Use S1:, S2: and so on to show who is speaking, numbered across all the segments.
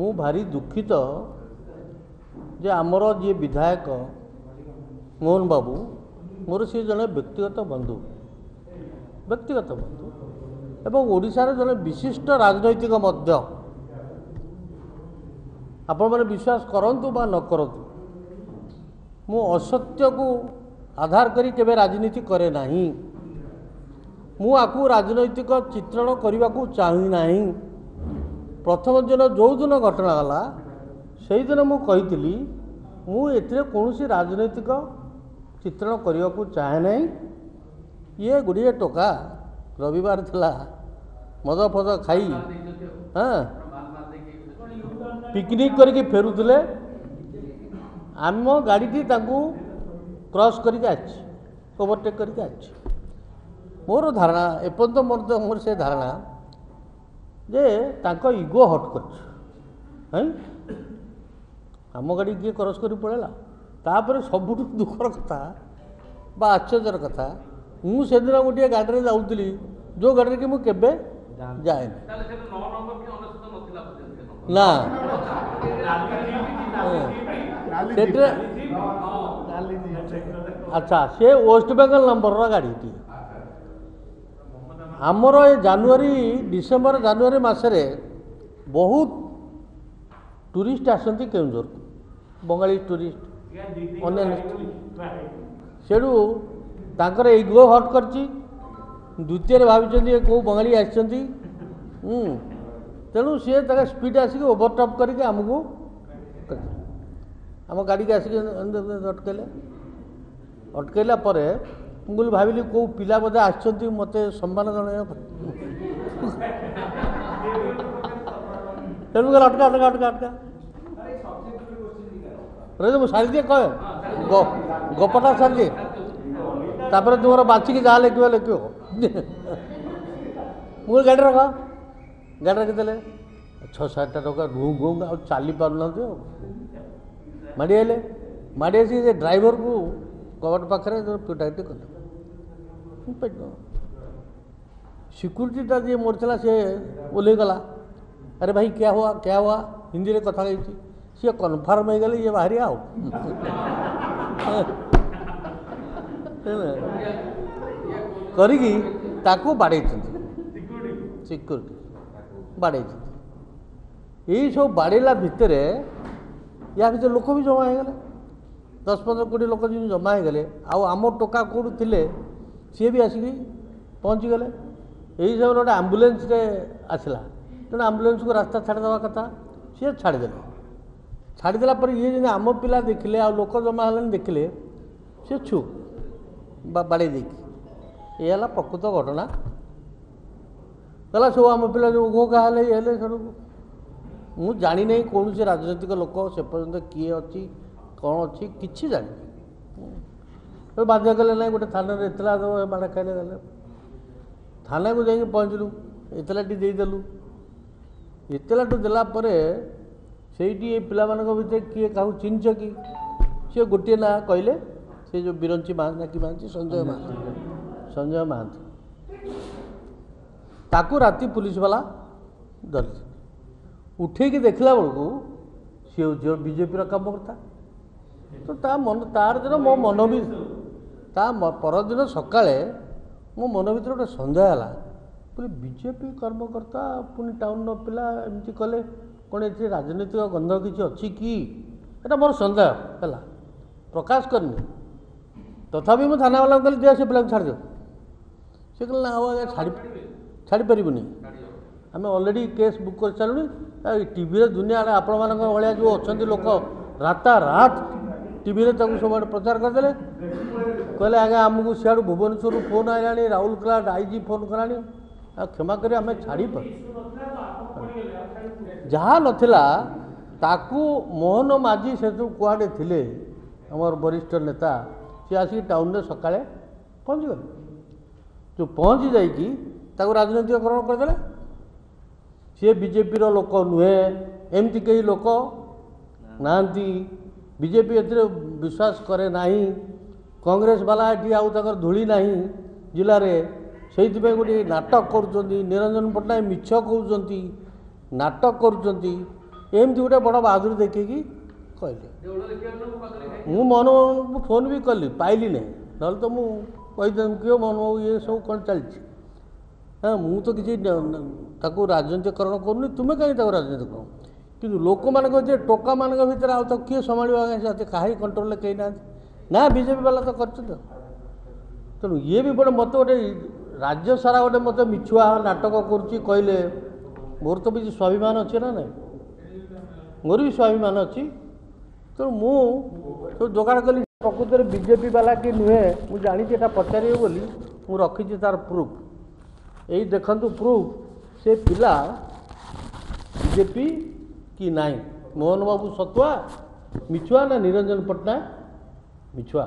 S1: ମୁଁ ଭାରି ଦୁଃଖିତ ଯେ ଆମର ଯିଏ ବିଧାୟକ ମୋହନ ବାବୁ, ମୋର ସିଏ ଜଣେ ବ୍ୟକ୍ତିଗତ ବନ୍ଧୁ, ବ୍ୟକ୍ତିଗତ ବନ୍ଧୁ ଏବଂ ଓଡ଼ିଶାର ଜଣେ ବିଶିଷ୍ଟ ରାଜନୈତିକ ମଧ୍ୟ। ଆପଣମାନେ ବିଶ୍ୱାସ କରନ୍ତୁ ବା ନ କରନ୍ତୁ, ମୁଁ ଅସତ୍ୟକୁ ଆଧାର କରି କେବେ ରାଜନୀତି କରେ ନାହିଁ। ମୁଁ ଆକୁ ରାଜନୈତିକ ଚିତ୍ରଣ କରିବାକୁ ଚାହେଁ ନାହିଁ। ପ୍ରଥମ ଦିନ ଯେଉଁଦିନ ଘଟଣା ହେଲା ସେଇଦିନ ମୁଁ କହିଥିଲି, ମୁଁ ଏଥିରେ କୌଣସି ରାଜନୈତିକ ଚିତ୍ରଣ କରିବାକୁ ଚାହେଁ ନାହିଁ। ଇଏ ଗୁଡ଼ିଏ ଟୋକା ରବିବାର ଥିଲା, ମଦ ଫଦ ଖାଇ ହଁ ପିକନିକ୍ କରିକି ଫେରୁଥିଲେ। ଆମ ଗାଡ଼ିଟି ତାଙ୍କୁ କ୍ରସ୍ କରିକି ଆସିଛି, ଓଭରଟେକ୍ କରିକି ଆସିଛି। ମୋର ଧାରଣା ଏପର୍ଯ୍ୟନ୍ତ ମୋର ସେ ଧାରଣା ଯେ ତାଙ୍କ ଇଗୋ ହଟ୍ କରିଛି। ହଁ, ଆମ ଗାଡ଼ି କିଏ କ୍ରସ୍ କରି ପଳେଇଲା। ତାପରେ ସବୁଠୁ ଦୁଃଖର କଥା ବା ଆଶ୍ଚର୍ଯ୍ୟର କଥା, ମୁଁ ସେଦିନ ଗୋଟିଏ ଗାଡ଼ିରେ ଯାଉଥିଲି ଯେଉଁ ଗାଡ଼ିରେ କି ମୁଁ କେବେ ଯାଏନି। ନା ସେଥିରେ ଆଚ୍ଛା, ସେ ୱେଷ୍ଟବେଙ୍ଗଲ ନମ୍ବରର ଗାଡ଼ିଟିଏ। ଆମର ଏ ଜାନୁଆରୀ, ଡିସେମ୍ବର ଜାନୁଆରୀ ମାସରେ ବହୁତ ଟୁରିଷ୍ଟ ଆସନ୍ତି କେଉଁଝରକୁ, ବଙ୍ଗାଳୀ ଟୁରିଷ୍ଟ, ଅନ୍ୟାନ୍ୟ। ସେଠୁ ତାଙ୍କର ଇଗୋ ହଟ୍ କରିଛି। ଦ୍ୱିତୀୟରେ ଭାବିଛନ୍ତି ଏ କେଉଁ ବଙ୍ଗାଳୀ ଆସିଛନ୍ତି, ତେଣୁ ସିଏ ତାଙ୍କ ସ୍ପିଡ଼ ଆସିକି ଓଭରଟପ୍ କରିକି ଆମକୁ, ଆମ ଗାଡ଼ିକି ଆସିକି ଅଟକେଇଲେ। ଅଟକେଇଲା ପରେ ମୁଁ କହିଲି, ଭାବିଲି କେଉଁ ପିଲା ବୋଧେ ଆସିଛନ୍ତି ମୋତେ ସମ୍ମାନ ଜଣାଇବା ପାଇଁ। ତେଣୁ କହିଲେ ଅଟକା ଅଟକା ଅଟକା ଅଟକା। ରହିଲେ ମୁଁ ସାରିଦିଏ, କହେ ଗପଟା ସାରିଦିଏ, ତାପରେ ତୁମର ବାଛିକି ଯାହା ଲେଖିବ ଲେଖିବ। ମୁଁ କହିଲି ଗାଡ଼ି ରଖ। ଗାଡ଼ି ରଖିଦେଲେ। 6 7ଟା ଟଙ୍କା ଘୁଁ ଘୁଁ ଆଉ ଚାଲି ପାରୁନାହାନ୍ତି, ଆଉ ମାଡ଼ି ଆଇଲେ। ମାଡ଼ି ଆସିକି ସେ ଡ୍ରାଇଭରକୁ କବାଟ ପାଖରେ ପିଟାପିଟି କଲେ। ସିକ୍ୟୁରିଟିଟା ଯିଏ ମୋର ଥିଲା ସେ ଓହ୍ଲେଇଗଲା। ଆରେ ଭାଇ, କ୍ୟା ହୁଆ କ୍ୟା ହୁଆ, ହିନ୍ଦୀରେ କଥା ହେଇଛି। ସିଏ କନଫର୍ମ ହେଇଗଲେ ଇଏ ବାହାରି ଆଉ କରିକି ତାକୁ ବାଡ଼େଇଛନ୍ତି, ସିକ୍ୟୁରିଟି ବାଡ଼େଇଛନ୍ତି। ଏଇସବୁ ବାଡ଼େଇଲା ଭିତରେ ୟା ଭିତରେ ଲୋକ ବି ଜମା ହେଇଗଲେ, 10 15 20 ଲୋକ ଯେମିତି ଜମା ହେଇଗଲେ। ଆଉ ଆମ ଟୋକା କେଉଁଠୁ ଥିଲେ ସିଏ ବି ଆସିକି ପହଞ୍ଚିଗଲେ। ଏଇ ସମୟରେ ଗୋଟେ ଆମ୍ବୁଲାନ୍ସରେ ଆସିଲା, ତେଣୁ ଆମ୍ବୁଲାନ୍ସକୁ ରାସ୍ତା ଛାଡ଼ିଦେବା କଥା, ସିଏ ଛାଡ଼ିଦେଲେ। ଛାଡ଼ିଦେଲା ପରେ ଇଏ ଯେମିତି ଆମ ପିଲା ଦେଖିଲେ ଆଉ ଲୋକ ଜମା ହେଲେଣି ଦେଖିଲେ, ସେ ଛୁ ବା ବାଡ଼େଇ ଦେଇକି। ଏ ହେଲା ପ୍ରକୃତ ଘଟଣା। ଗଲା ସବୁ ଆମ ପିଲା ଯେଉଁ ଘୋ ଘା ହେଲେ, ଇଏ ହେଲେ। ସେଠୁ ମୁଁ ଜାଣିନାହିଁ କୌଣସି ରାଜନୈତିକ ଲୋକ ସେ ପର୍ଯ୍ୟନ୍ତ କିଏ ଅଛି କ'ଣ ଅଛି କିଛି ଜାଣିନି। ବାଧ୍ୟ କଲେ, ନାହିଁ ଗୋଟେ ଥାନାରେ ଏତଲା ଦେବ, ମାଡ଼ ଖାଇଲେ। ଗଲେ ଥାନାକୁ, ଯାଇକି ପହଞ୍ଚିଲୁ, ଏତଲାଟି ଦେଇଦେଲୁ। ଏତଲାଟି ଦେଲା ପରେ ସେଇଠି ଏ ପିଲାମାନଙ୍କ ଭିତରେ କିଏ କାହାକୁ ଚିହ୍ନିଛ କି, ସିଏ ଗୋଟିଏ ନାଁ କହିଲେ, ସେ ଯେଉଁ ବିରଞ୍ଚି ମହାନ୍ତି ନା କି ମହାନ୍ତି, ସଞ୍ଜୟ ମହାନ୍ତି, ସଞ୍ଜୟ ମହାନ୍ତି। ତାକୁ ରାତି ପୁଲିସ ବାଲା ଧରିଛି। ଉଠେଇକି ଦେଖିଲା ବେଳକୁ ସିଏ ହେଉଛି ବିଜେପିର କାମକର୍ତ୍ତା। ତ ତା ମନ ତାର ଦିନ ମୋ ମନ ବି, ତା ପରଦିନ ସକାଳେ ମୋ ମନ ଭିତରେ ଗୋଟେ ସନ୍ଦେହ ହେଲା ପୁଣି, ବିଜେପି କର୍ମକର୍ତ୍ତା ପୁଣି ଟାଉନର ପିଲା ଏମିତି କଲେ, କ'ଣ ଏଥିରେ ରାଜନୈତିକ ଗନ୍ଧ କିଛି ଅଛି କି? ଏଇଟା ମୋର ସନ୍ଦେହ ହେଲା, ପ୍ରକାଶ କରିନି। ତଥାପି ମୁଁ ଥାନାବାଲାଙ୍କୁ କହିଲି, ଦିଅ ସେ ପିଲାକୁ ଛାଡ଼ିଦିଅ। ସେ କହିଲେ, ନା ଆଉ ଆଜ୍ଞା ଛାଡ଼ିପାରିବୁନି, ଆମେ ଅଲରେଡ଼ି କେସ୍ ବୁକ୍ କରିସାରିଲୁଣି। ଟିଭିରେ ଦୁନିଆ ଆଡ଼େ ଆପଣମାନଙ୍କ ଭଳିଆ ଯେଉଁ ଅଛନ୍ତି ଲୋକ, ରାତାରାତ ଟିଭିରେ ତାକୁ ସବୁଆଡ଼େ ପ୍ରଚାର କରିଦେଲେ। କହିଲେ, ଆଜ୍ଞା ଆମକୁ ସିଆଡ଼ୁ ଭୁବନେଶ୍ୱରରୁ ଫୋନ୍ ଆଇଲାଣି, ରାଉରକେଲା I G phone କଲାଣି, ଆଉ କ୍ଷମା କରି ଆମେ ଛାଡ଼ିପାରୁ। ଯାହା ନଥିଲା ତାକୁ ମୋହନ ମାଝୀ ସେଠୁ କୁଆଡ଼େ ଥିଲେ ଆମର ବରିଷ୍ଠ ନେତା, ସିଏ ଆସିକି ଟାଉନରେ ସକାଳେ ପହଞ୍ଚିଗଲେ। ଯେଉଁ ପହଞ୍ଚି ଯାଇକି ତାକୁ ରାଜନୈତିକକରଣ କରିଦେଲେ। ସିଏ ବିଜେପିର ଲୋକ ନୁହେଁ, ଏମିତି କେହି ଲୋକ ନାହାନ୍ତି, ବିଜେପି ଏଥିରେ ବିଶ୍ୱାସ କରେ ନାହିଁ, କଂଗ୍ରେସ ବାଲା ଏଠି ଆଉ ତାଙ୍କର ଧୂଳି ନାହିଁ ଜିଲ୍ଲାରେ, ସେଇଥିପାଇଁ ଗୋଟିଏ ନାଟକ କରୁଛନ୍ତି। ନିରଞ୍ଜନ ପଟ୍ଟନାୟକ ମିଛ କହୁଛନ୍ତି, ନାଟକ କରୁଛନ୍ତି। ଏମିତି ଗୋଟେ ବଡ଼ ବାହାଦୁର ଦେଖିକି କହିଲେ। ମୁଁ ମୋହନବାବୁଙ୍କୁ ଫୋନ୍ ବି କଲି, ପାଇଲି ନାହିଁ, ନହେଲେ ତ ମୁଁ କହିଦେବି କିଏ ମୋହନବାବୁ ଇଏ ସବୁ କ'ଣ ଚାଲିଛି। ହଁ, ମୁଁ ତ କିଛି ତାକୁ ରାଜନୀତିକରଣ କରୁନି, ତୁମେ କାହିଁକି ତାକୁ ରାଜନୀତି କର? କିନ୍ତୁ ଲୋକମାନଙ୍କ ଯେ ଟୋକାମାନଙ୍କ ଭିତରେ ଆଉ ତାକୁ କିଏ ସମ୍ଭାଳିବ ଆଜ୍ଞା? ସେ କାହାରି କଣ୍ଟ୍ରୋଲରେ କେହି ନାହାନ୍ତି ନା, ବିଜେପି ବାଲା ତ କରିଛନ୍ତି। ତେଣୁ ଇଏ ବି ଗୋଟେ ମୋତେ ଗୋଟେ ରାଜ୍ୟ ସାରା ଗୋଟେ ମୋତେ ମିଛୁଆ ନାଟକ କରୁଛି କହିଲେ, ମୋର ତ କିଛି ସ୍ୱାଭିମାନ ଅଛି ନା ନାହିଁ? ମୋର ବି ସ୍ୱାଭିମାନ ଅଛି। ତେଣୁ ମୁଁ ସବୁ ଯୋଗାଡ଼ କଲି। ପ୍ରକୃତରେ ବିଜେପି ବାଲା କି ନୁହେଁ ମୁଁ ଜାଣିଛି, ଏଇଟା ପଚାରିବେ ବୋଲି ମୁଁ ରଖିଛି ତାର ପ୍ରୁଫ୍। ଏଇ ଦେଖନ୍ତୁ ପ୍ରୁଫ୍, ସେ ପିଲା ବିଜେପି କି ନାହିଁ? ମୋହନ ବାବୁ ସତୁଆ ମିଛୁଆ ନା ନିରଞ୍ଜନ ପଟ୍ଟନାୟକ ମିଛୁଆ?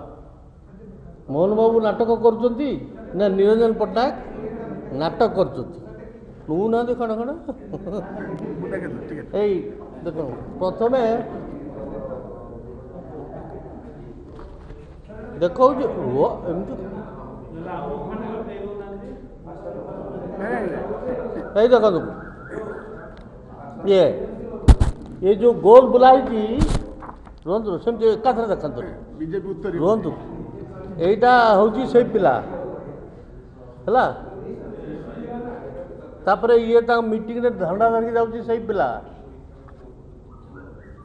S1: ମୋହନ ବାବୁ ନାଟକ କରୁଛନ୍ତି ନା ନିରଞ୍ଜନ ପଟ୍ଟନାୟକ ନାଟକ କରୁଛନ୍ତି? ନଉନାହାନ୍ତି ଖଣ୍ଡ ଖଣ୍ଡ। ଏଇ ଦେଖନ୍ତୁ, ପ୍ରଥମେ ଦେଖାଉଛି ରୁହ ଏମିତି। ଏଇ ଦେଖନ୍ତୁ, ଇଏ ଏ ଯେଉଁ ଗୋଲ ବୁଲା ହେଇଛି, ରୁହନ୍ତୁ ସେମିତି ଏକାଥରେ ଦେଖନ୍ତୁ, ରୁହନ୍ତୁ। ଏଇଟା ହେଉଛି ସେଇ ପିଲା ହେଲା। ତାପରେ ଇଏ ତାଙ୍କ ମିଟିଂରେ ଝଣ୍ଡା ଧରିକି ଯାଉଛି ସେଇ ପିଲା।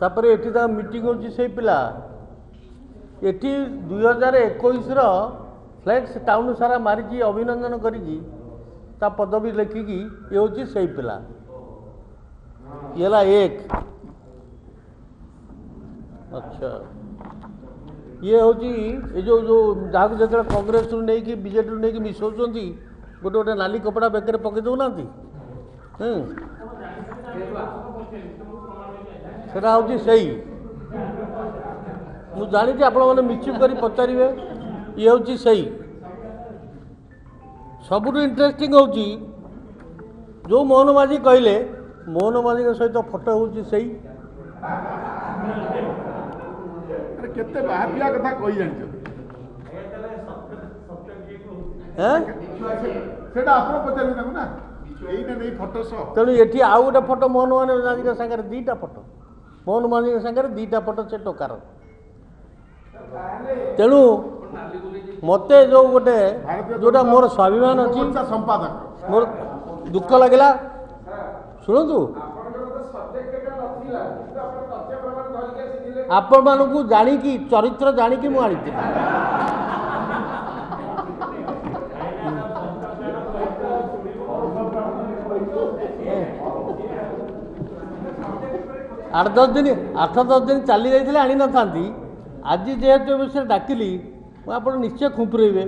S1: ତାପରେ ଏଠି ତାଙ୍କ ମିଟିଂ ହେଉଛି ସେଇ ପିଲା। ଏଠି 2021ର ଫ୍ଲେକ୍ସ ଟାଉନ୍ ସାରା ମାରିଛି ଅଭିନନ୍ଦନ କରିକି ତା ପଦବୀ ଲେଖିକି, ଇଏ ହେଉଛି ସେଇ ପିଲା। ଇଏ ହେଲା ଏକ। ଆଚ୍ଛା, ଇଏ ହେଉଛି ଏ ଯେଉଁ ଯେଉଁ ଯାହାକୁ ଯେତେବେଳେ କଂଗ୍ରେସରୁ ନେଇକି ବିଜେଡ଼ିରୁ ନେଇକି ମିଶାଉଛନ୍ତି, ଗୋଟେ ଗୋଟେ ନାଲି କପଡ଼ା ବେକରେ ପକାଇ ଦେଉନାହାନ୍ତି, ସେଟା ହେଉଛି ସେଇ। ମୁଁ ଜାଣିଛି ଆପଣମାନେ ମିଛ କରି ପଚାରିବେ। ଇଏ ହେଉଛି ସେଇ। ସବୁଠୁ ଇଣ୍ଟରେଷ୍ଟିଂ ହେଉଛି ଯେଉଁ ମୋହନ ମାଝୀ କହିଲେ, ମୋହନ ମାଝୀଙ୍କ ସହିତ ଫଟୋ ହେଉଛି ସେଇ।
S2: କେତେ ବାହାପିଆ କଥା କହି ଜାଣିଛନ୍ତି ସେଟା ଆପଣ ପଚାରିବେ ତାଙ୍କୁ ନା, ଏଇଟା ନେଇ ଫଟୋ ସହ।
S1: ତେଣୁ ଏଠି ଆଉ ଗୋଟେ ଫଟୋ ମୋହନ ମାଝୀଙ୍କ ସାଙ୍ଗରେ, ଦୁଇଟା ଫଟୋ ମୋହନ ମାଝୀଙ୍କ ସାଙ୍ଗରେ, ଦୁଇଟା ଫଟୋ ସେ ଟୋକାର। ତେଣୁ ମୋତେ ଯେଉଁ ଗୋଟେ ଯେଉଁଟା ମୋର ସ୍ୱାଭିମାନ ଅଛି,
S2: ସମ୍ପାଦକ,
S1: ମୋର ଦୁଃଖ ଲାଗିଲା। ଶୁଣନ୍ତୁ, ଆପଣମାନଙ୍କୁ ଜାଣିକି ଚରିତ୍ର ଜାଣିକି ମୁଁ ଆଣିଥିଲି। ଆଠ ଦଶ ଦିନ, ଆଠ ଦଶ ଦିନ ଚାଲି ଯାଇଥିଲେ ଆଣିନଥାନ୍ତି। ଆଜି ଯେହେତୁ ଏ ବିଷୟରେ ଡାକିଲି, ମୁଁ ଆପଣ ନିଶ୍ଚୟ ଖୁମ୍ପୁରେଇବେ।